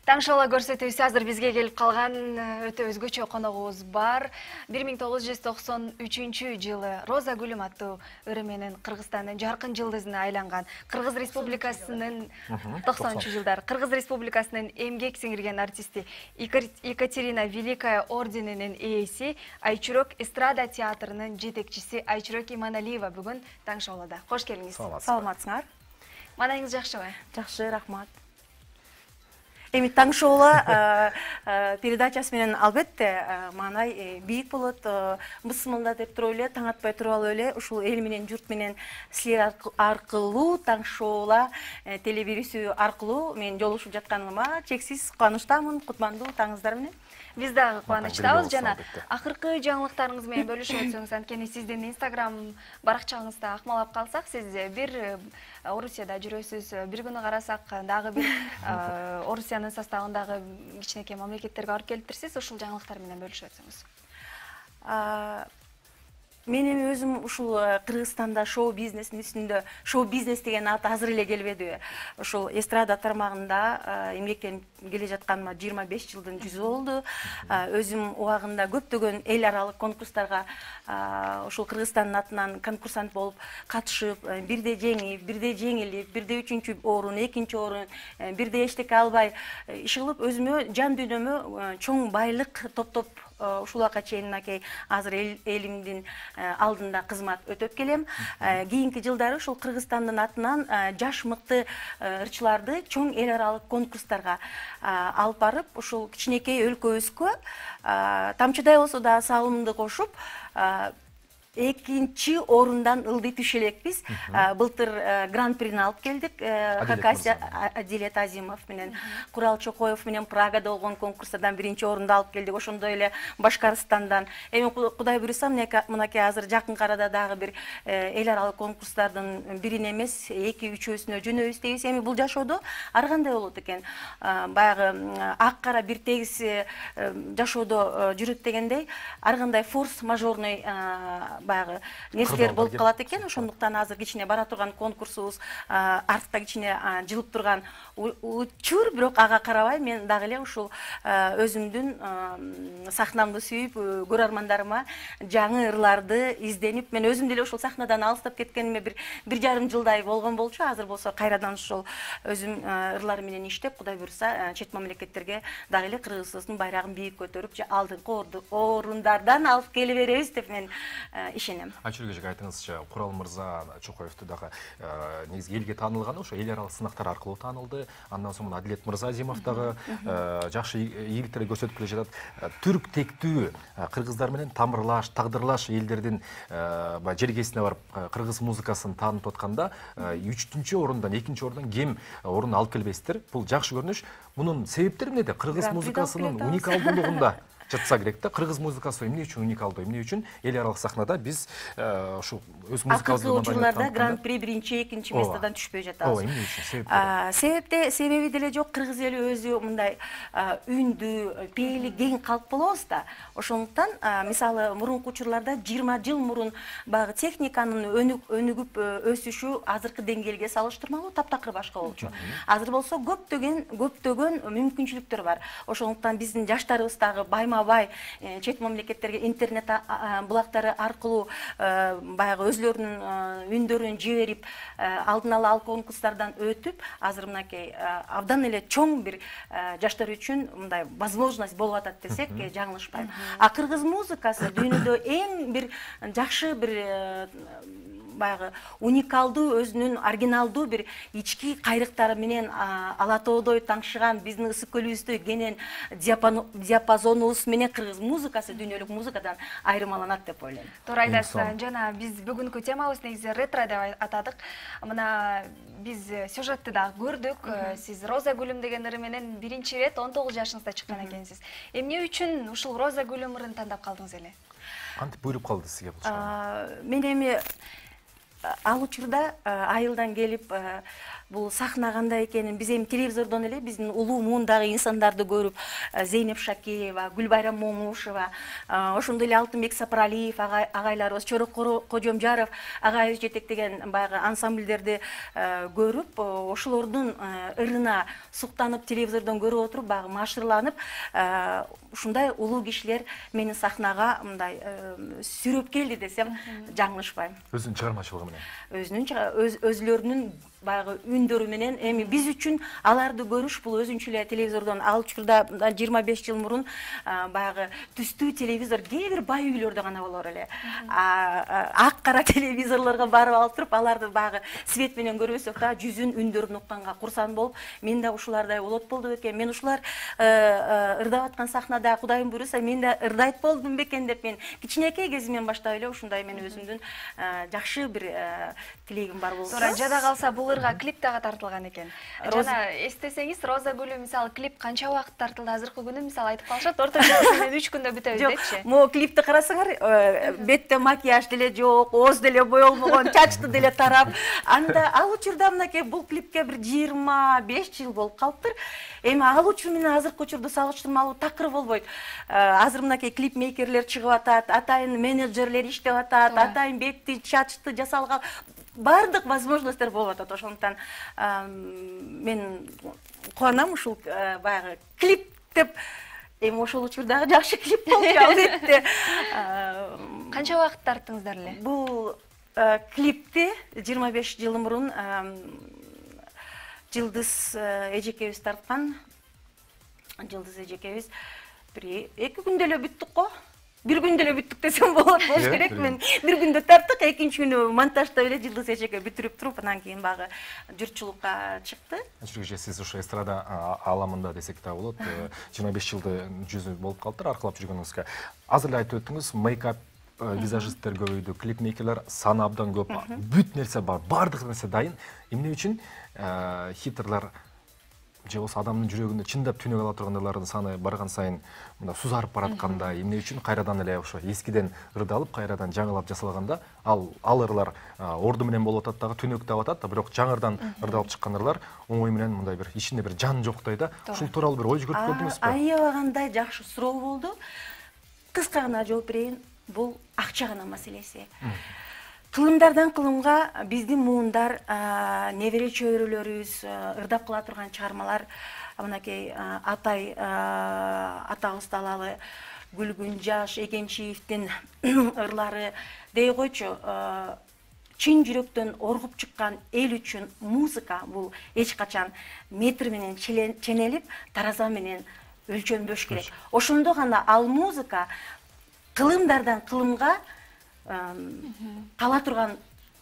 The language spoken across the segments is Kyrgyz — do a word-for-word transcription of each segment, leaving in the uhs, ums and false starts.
Таң шоу көрсөтүүсү азыр бизге келип калган өтө өзгөчө коногубуз бар. бир миң тогуз жүз токсон үчүнчү жылы Роза гүлүм аттуу ыры менен Кыргызстандын жаркын жылдызына айланган Кыргыз Республикасынын токсонунчу жылдары Кыргыз Республикасынын эмгек сиңирген артисти Екатерина Великая орденинин ээси, Айчурок эстрада театрынын жетекчиси Айчурок Иманалиева бүгүн таң шоуда. Кош келиңиз. Саламатсыңар. Маанайыңыз жакшыбы? Жакшы, рахмат. Эми таң шоула передачасы менен албетте маанай бийик болот. Мысмылда деп туруп эле, таң атпай туруп алып эле ушул эл менен, журт менен силер аркылуу таң шоула телебирүүсү аркылуу мен жолугушуп жатканыма чексиз кубанычтамын. Кутмандуу таңыңыздар менен. Биз дагы кубанычтабыз жана акыркы жаңылыктарыңыз менен бөлүшүп өтсөңүз, анткени сиздин Instagram баракчаңызда акмалап калсак, сиз бир Орусияда жүрөсүз, бир күнү карасак дагы бир Орусиянын составындагы кичинекей мамлекеттерге барып келиптирсиз. Ушул жаңылыктар менен бөлүшүп өтсөңүз. Мен эми өзүм ушул Кыргызстанда шоу бизнестин үстүндө, шоу бизнес деген ат азыр эле келбеди. Ушул эстрада тармагында эмгектенип келе жатканыма жыйырма беш жылдын жүзү болду. Өзүм убагында көптөгөн эл аралык конкурстарга ушул Кыргызстандын атынан конкурсант болуп катышып, бирде жеңип, бирде жеңилип, бирде үчүнчү орун, экинчи орун, бирде эчтеке албай иш кылып өзүмө жан дүйнөмө чоң байлык топтоп ушуларга чейин мынакей азыр элимдин алдында кызмат өтөп келем. Кийинки жылдары ушул Кыргызстандын атынан жаш мыкты ырчыларды чоң эл аралык конкурстарга алып барып, ушул кичинекей өлкөбүзгө тамчыдай болсо да салымымды кошуп, экинчи орундан ылдый түшө элекпиз. Былтыр гран-прини алып келдик. Адилет Азимов менен Курал Чокоев менен Прагада болгон конкурстардан биринчи орунду алып келдик. Ошондой эле Башкарстандан. Эми Кудай буйруса, мынакей азыр жакын арада дагы бир эл аралык конкурстардын бирине эмес, эки үчөөсүнө жөнөбүз дейбиз. Эми бул жашоодо ар кандай болот экен? Баягы ак кара бир тегиз жашоодо жүрөт дегендей, ар кандай форс-мажорный баягы нерселер болуп калат экен. Ошондуктан азыр кичине бара турган конкурсубуз артта кичине жылып турган учур, бирок ага карабай мен дагы эле ушул өзүмдүн сахнамды сүйүп, көрөрмандарыма жаңы ырларды изденип, мен өзүм деле ушул сахнадан алыстап кеткениме бир бир жарым жылдай болгон болчу. Азыр болсо кайрадан ушул өзүм ырлар менен иштеп, Кудай буйруса, чет мамлекеттерге дагы эле Кыргызстандын байрагын бийик көтөрүп, алдыңкы орундардан алып келе беребиз деп мен ишенем. Айчурок эже, айтыңызчы, Курал мырза Чокоевду дагы негизи элге таанылганы ошо эл аралык сынактар аркылуу таанылды. Андан соң Адилет мырза Азимов дагы жакшы ийгиликтерди көрсөтүп келе жатат. Түрк тектүү кыргыздар менен тамырлаш, тагдырлаш элдердин жергесине барып кыргыз музыкасын таанытып атканда үчүнчү орундан, экинчи орундан кем орун алып келбейсиздер. Бул жакшы көрүнүш. Мунун себептери эмнеде? Кыргыз музыкасынын уникалдуулугунда жатса керек да. Кыргыз музыкасы эмне үчүн уникалдуу, эмне үчүн эл аралык сахнада биз ушул өз музыкабызды акыркы учурларда гран-при биринчи, экинчи местодон түшпөй жатабыз. Ооба, эмне үчүн? Себептери? Себепте, себеби деле жок. Кыргыз эли өзү мындай үндүү, пейили кең калк болобуз да. Ошондуктан, мисалы, мурунку учурларда жыйырма жыл мурун багы техниканын өнүгүп өсүшү азыркы деңгээлге салыштырмалуу таптакыр башка болчу. Азыр болсо көптөгөн көптөгөн мүмкүнчүлүктөр бар. Ошондуктан биздин жаштарыбыз дагы байма-бай чет мамлекеттерге интернет булактары аркылуу баягы өзлөрүнүн үндөрүн жиберип, алдын ала ал конкурстардан өтүп, азыр мынакей абдан эле чоң бир жаштар үчүн мындай возможность болуп атат десек жаңылышпайм. А кыргыз музыкасы дүйнөдө эң бир жакшы бир баягы уникалдуу, өзүнүн оригиналдуу бир ички кайрыктары менен ала тоодой таңшыган, биздин ысык көлүбүздөй кенен диапазонубуз менен кыргыз музыкасы дүйнөлүк музыкадан айырмаланат деп ойлойм. Туура айтасыз. Жана биз бүгүнкү темабыз негизи ретро деп атадык. Мына биз сюжетти дагы көрдүк. Сиз Роза гүлүм деген ыры менен биринчи ирет он тогуз жашыңызда чыккан экенсиз. Эмне үчүн ушул Роза гүлүм ырын тандап калдыңыз эле? Кантип буйруп калды сизге бул? Мен эми ал учурда айылдан келип бул сахна кандай экенин биз эми телевизордон эле биздин улуу муундагы инсандарды көрүп, Зейнеп Шакеева, Гүлбайрам Момушева, ошондой эле Алтынбек Сапаралиев агайларыбыз, Чорок Кожомжаров агайыбыз жетектеген баягы ансамбльдерди көрүп, ошолордун ырына суктанып телевизордон көрүп отуруп, баягы маашырланып, ушундай улуу кишилер мени сахнага мындай сүрөп келди десем жаңылышпайм. Өзүнүн чыгармачылыгы менен. Өзүнүн өзлөрүнүн баягы үндөрү менен эми биз үчүн аларды көрүш бул өзүнчө эле телевизордон ал учурда жыйырма беш жыл мурун баягы түстүү телевизор кээ бир бай үйлөрдө гана болор эле. Ак кара телевизорлорго барып алып туруп, аларды баягы свет менен көрбөсөк да жүзүн үндөрүн укканга курсан болуп, мен да ушулардай болот болду бекен, мен ушулар ырдап аткан сахнада Кудайым буйруса мен да ырдайт болдум бекен деп мен кичинекей кезимден баштап эле ушундай мен өзүмдүн жакшы бир тилегим бар болсо. Туура жада калса бул ырга клип дагы тартылган экен. Жана эстесеңиз, Роза гүлү мисалы клип канча убакыт тартылды? Азыркы күнү мисалы айтып калышат, орточо менен үч күндө бүтөбүз депчи. Могу клипти карасаңар, бетте макияж деле жок, ооз деле боелмогон, чачты деле тарап. Анда ал учурда мынакей бул клипке бир жыйырма беш жыл болуп калыптыр. Эми ал учур менен азыркы учурду салыштырмалуу такыр болбойт. Азыр мынакей клип мейкерлер чыгып атат, атайын менеджерлер иштеп атат, атайын бетти, чачты жасалган бардык возможностьтер болуп атат. Ошондуктан мен кубанам ушул баягы клип деп. Эми ошол учурдагы жакшы клип болчу албетте. Канча убакыт тарттыңыздар эле? Бул клипти жыйырма беш жыл мурун Жылдыз эжекебиз тарткан. Жылдыз эжекебиз бир эки күндө эле бүттүк го. Бир күндө эле бүттүк десем болот болуш керек. Мен бир күндө тарттык, экинчи күнү монтаждап эле Жылдыз эжеке бүтүрүп туруп, анан кийин багы журтчулукка чыкты. Чүрүкче сиз ушу эстрада ааламында десек да болот. жыйырма беш жылды жүзү болуп калыптыр аркылап жүргөнүңүзгө. Азыр эле айтып өттүңүз, мейкап визажисттер көбөйдү, клипмейкерлер саны абдан көп, бүт нерсе бар, бардык нерсе дайын. Эмне үчүн хитрлар же болсо адамдын жүрөгүндө чындап түнөк ала тургандардын саны барган сайын мында сузарып баратканда, эмне үчүн кайрадан эле ошо эскиден ырдалып, кайрадан жаңылап жасалганда, ал ал ырлар орду менен болуп атат дагы, түнөктөп атат да, бирок жаңырдан ырдалып чыккан ырлар оңой менен мындай бир ичинде бир жан жоктой да. Ушул тууралуу бир ой жүгүртүп көрдүңүзбү? Аябагандай жакшы суроо болду. Кыска гана жооп берейин. Бул акча гана маселеси. Кылымдардан кылымга биздин муундар, небере чөйрөлөрүбүз ырдап кыла турган чыгармалар, мынакей атай атабызды алалы, Гүлгүн Жаш Эгемчиевдин ырлары дей койчу, чын жүрөктөн оргуп чыккан эл үчүн музыка бул эч качан метр менен ченелип, тараза менен өлчөнбөш керек. Ошондо гана ал музыка кылымдардан кылымга кала турган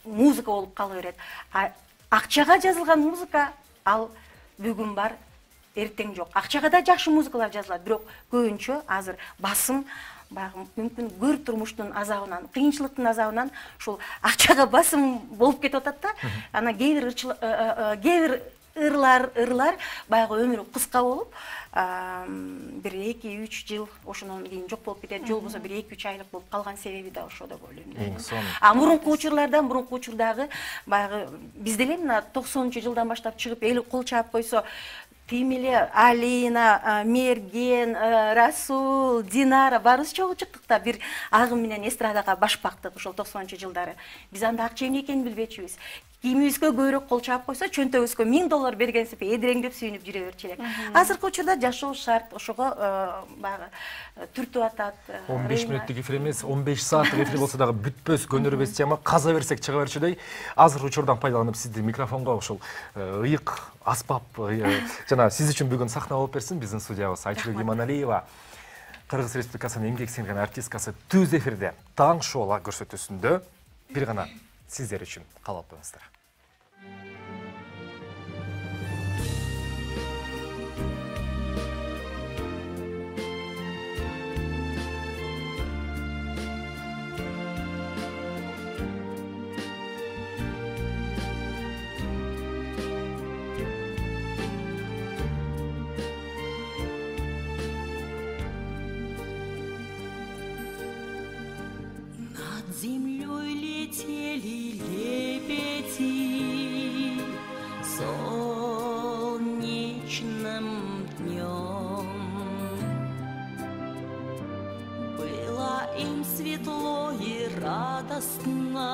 музыка болуп кала берет. Акчага жазылган музыка ал бүгүн бар, эртең жок. Акчага да жакшы музыкалар жазылат, бирок көбүнчө азыр басым баягы мүмкүн көр турмуштун азабынан, кыйынчылыктын азабынан ушул акчага басым болуп кетип атат да. Анан кээ бир кээ бир ырлар ырлар баягы өмүрү кыска болуп, бир эки үч жыл ошондон кийин жок болуп кетет, же болбосо бир эки үч айлык болуп калган себеби да ошо деп ойлойм. А мурунку учурлардан, мурунку учурдагы баягы биз деле мына токсонунчу жылдан баштап чыгып эл кол чаап койсо, тим эле Алина, Мерген, Расул, Динара баарыбыз чогуу чыктык да, бир агым менен эстрадага баш бактык ошол токсонунчу жылдары. Биз анда акча эмне экенин билбечүбүз. Кийимибизге көбүрөөк кол чаап койсо, чөнтөгүбүзгө миң доллар бергенсип эдиреңдеп сүйүнүп жүрө берчү элек. Азыркы учурда жашоо шарт, ошого баягы түртүп атат. он беш мүнөттүк эфир эмес, он беш сааттык эфир болсо дагы бүтпөс көнөрбөс тема, каза берсек чыга берчүдөй. Азыр учурдан пайдаланып сизди микрофонго ушул ыйык аспап жана сиз үчүн бүгүн сахна болуп берсин биздин студиябыз. Айчүрөк Иманалиева, Кыргыз Республикасынын эмгек сиңирген артисткасы, түз эфирде таң шоула көрсөтүүсүндө бир гана сиздер үчүн калаптыңыздар. Землей летели летели. солнечным днем. Было им светло и радостно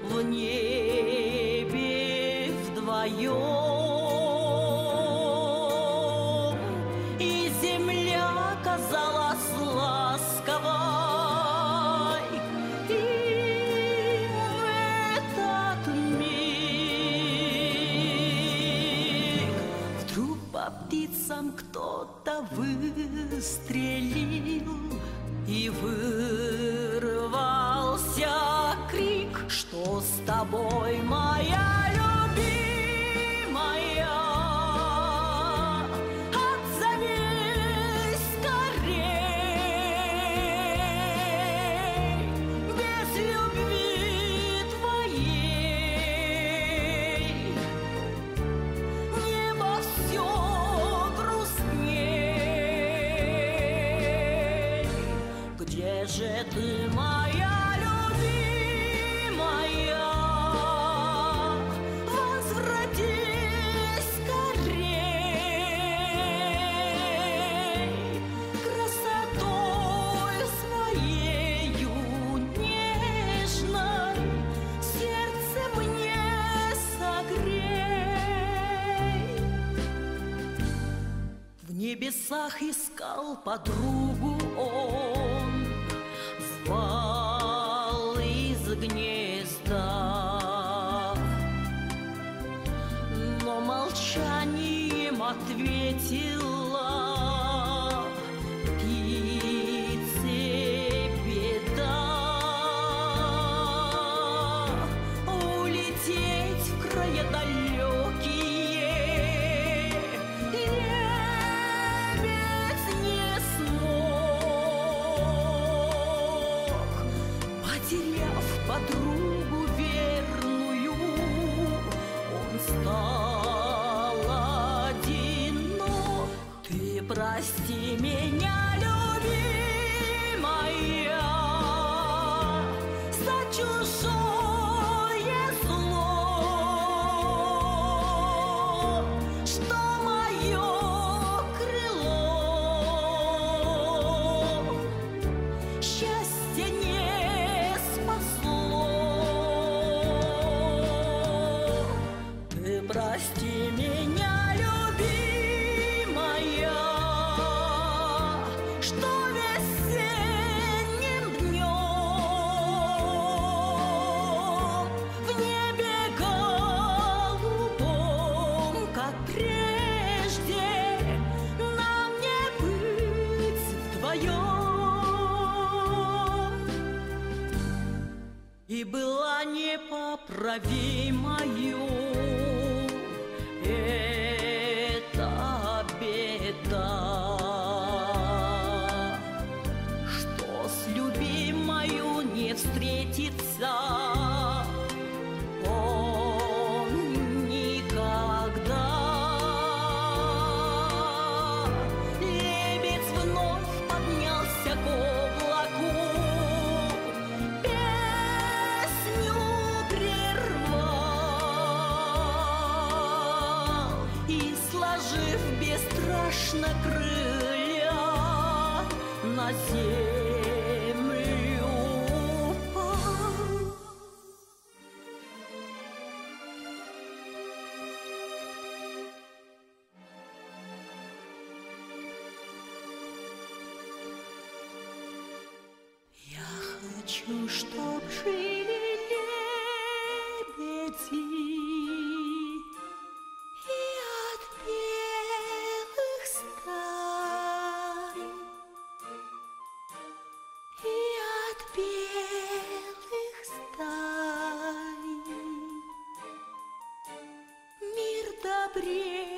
в небе вдвоем, и земля казалась ласковой, и в этот миг вдруг по птицам кто-то выстрелил, и вырвался крик: что с тобой, моя любимая? Отзовись скорей, без любви твоей небо все грустней. Где же ты, моя любимая? Возвратись скорей, красотой своею нежной сердце мне согрей. В небесах искал подругу он, звал из гнезда, но молчанием ответила птице беда. Улететь в края далекие лебедь не смог, потеряв подругу верную, он стал одинок. Ты прости меня, любимая, за чужое зло, что мое крыло счастье не спасло. Ты прости меня, любимая, что весенним днем в небе голубом, как прежде, нам не быть вдвоем. И была непоправимою эта беда, что с любимою не встретится он никогда. Лебедь вновь поднялся к облаку, песню прервал и, сложив бесстрашно крылья, на землю упал. Я хочу, чтоб жили лебеди и от белых стай, и от белых стай мир добрее